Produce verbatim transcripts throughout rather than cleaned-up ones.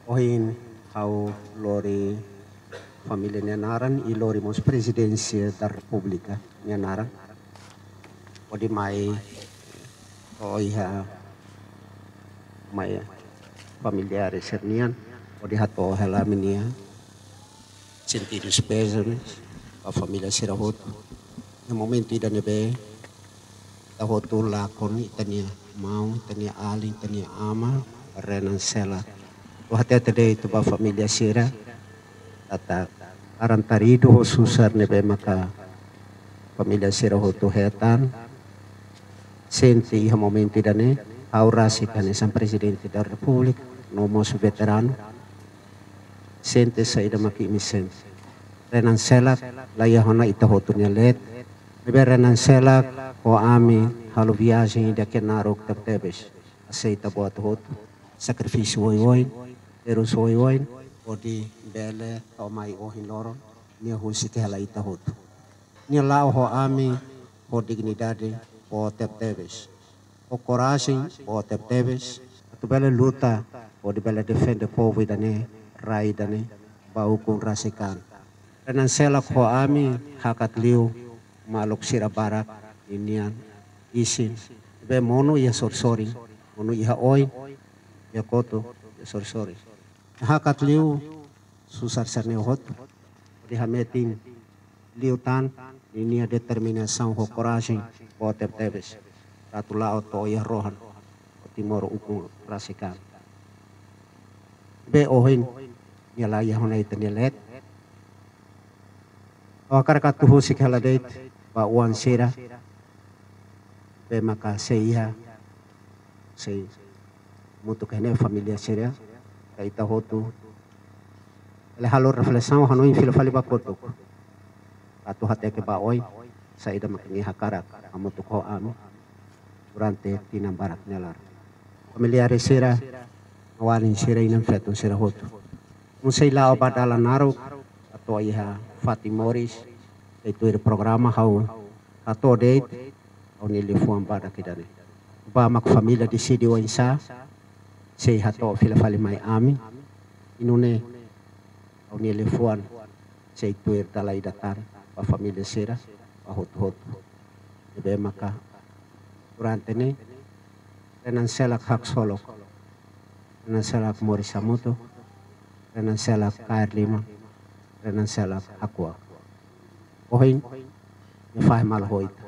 Ohin ha'u lori família nia naran i lori mós Prezidénsia da Repúblika nia naran. Hodi mai to'o iha mai familiares sira-nian, hodi hato'o hela ami-nia sentidu pézames ba família sira hotu. Iha momentu ida ne'ebé ita hotu lakon ita-nia maun, ita-nia alin, ita-nia aman, Renan Selak. Ha'u hatete de'it ba família sira, katak laran-taridu ho susar ne'ebé maka família sira hotu hetan, sente iha momentu ida-ne'e, ha'u rasik hanesan Prezidente da Repúblika, no mós veteranu, sente saida mak imi sente. Renan Selak la iha ona ita hotu nia leet. Ne'ebé Renan Selak ho ami halo viajen ida ke naruk tebetebes. Aseita buat hotu, sakrifísiu oioin, terus oioin, hodi bele to'o mai ohin loron, nia husik hela ita hotu. Nia la'o ho ami ho dignidade boot tebetebes, ho korajen boot tebetebes, atu bele luta hodi bele defende povu ida-ne'e, rai ida-ne'e, ba ukun rasik an. Renan Selak ho ami hakat liu maluk sira barak ninian isin, ne'ebé monu iha sorin-sorin, monu iha oin, iha kotuk, iha sorin-sorin. Hakat liu susar sira-ne'e hotu, hodi hametin liután ninia determinasaun ho korajen boot tebetebes, atu la'o to'o iha rohan ho Timor ukun rasik an. Ne'ebé ohin nia la iha ona ita-nia leet. Ha'u hakarak atu husik hela de'it ba oan sira ne'ebé maka sei iha, sei hamutuk iha ne'e, família sira, ka ita hotu bele halo reflesaun, hanoin fila fali ba kotuk, atu hateke ba oin saida mak nia hakarak hamutuk ho ami durante tinan barak nia laran. Familiares sira, alin sira, inan-feton sira hotu, imi sei la'o ba dalan naruk, atu iha fatin moris, sei tuir programa, ha'u hato'o de'it ha'u-nia liafuan badak ida-ne'e. Ba mak família deside oinsá, sei hato'o fila fali mai ami. I nune'e ha'u-nia liafuan sei tuir dala ida tan ba família sira, ba hotu-hotu. Ne'ebé maka durante ne'e, Renan Selak haksolok, Renan Selak moris hamutuk, Renan Selak kaer liman, Renan Selak hakuak. Ohin nia fahe malu ho ita.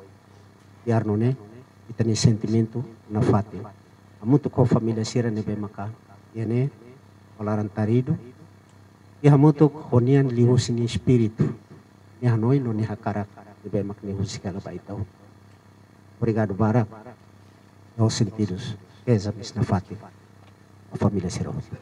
Biar nune'e, ita-nia sentimentu nafatin hamutuk ho família sira ne'ebé maka iha ne'e, ho laran-taridu, i hamutuk ho nian liuhusi nia espíritu, nia hanoin no nia hakarak ne'ebé mak nia husik hela ba ita hotu. Obrigadu barak. Ho sentidu pézames nafatin ba família sira hotu.